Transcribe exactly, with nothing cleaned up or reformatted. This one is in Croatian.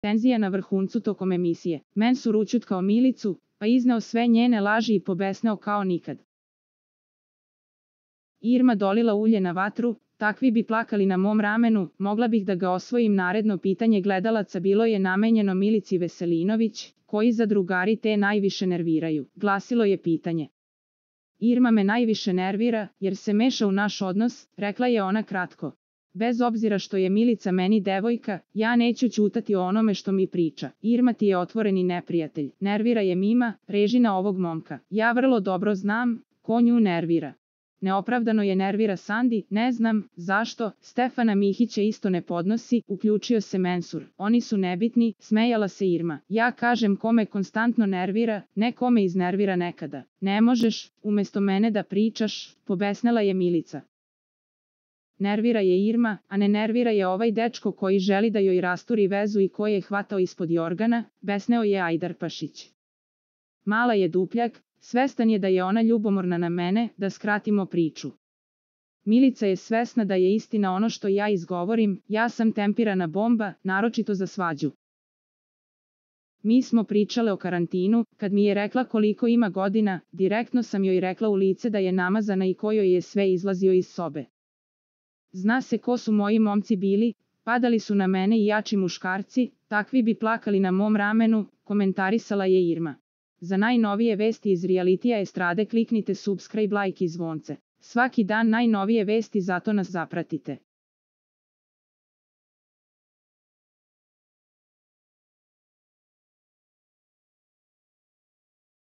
Tenzija na vrhuncu tokom emisije. Mensur ućutkao Milicu, pa izneo sve njene laži i pobesneo kao nikad. Irma dolila ulje na vatru, takvi bi plakali na mom ramenu, mogla bih da ga osvojim. Naredno pitanje gledalaca bilo je namenjeno Milici Veselinović, koji zadrugari te najviše nerviraju. Glasilo je pitanje. Irma me najviše nervira, jer se meša u naš odnos, rekla je ona kratko. Bez obzira što je Milica meni devojka, ja neću ćutati o onome što mi priča. Irma ti je otvoreni neprijatelj. Nervira je Mima, režina ovog momka. Ja vrlo dobro znam ko nju nervira. Neopravdano je nervira Sandi, ne znam zašto, Stefana Mihića isto ne podnosi, uključio se Mensur. Oni su nebitni, smejala se Irma. Ja kažem kome konstantno nervira, ne kome iznervira nekada. Ne možeš, umjesto mene da pričaš, pobesnela je Milica. Nervira je Irma, a ne nervira je ovaj dečko koji želi da joj rasturi vezu i koji je hvatao ispod jorgana, besneo je Ajdarpašić. Mala je dupljak, svestan je da je ona ljubomorna na mene, da skratimo priču. Milica je svesna da je istina ono što ja izgovorim, ja sam tempirana bomba, naročito za svađu. Mi smo pričale o karantinu, kad mi je rekla koliko ima godina, direktno sam joj rekla u lice da je namazana i kojoj je sve izlazio iz sobe. Zna se ko su moji momci bili, padali su na mene i jači muškarci, takvi bi plakali na mom ramenu, komentarisala je Irma. Za najnovije vesti iz realitija estrade kliknite subscribe, like i zvonce. Svaki dan najnovije vesti, zato nas zapratite.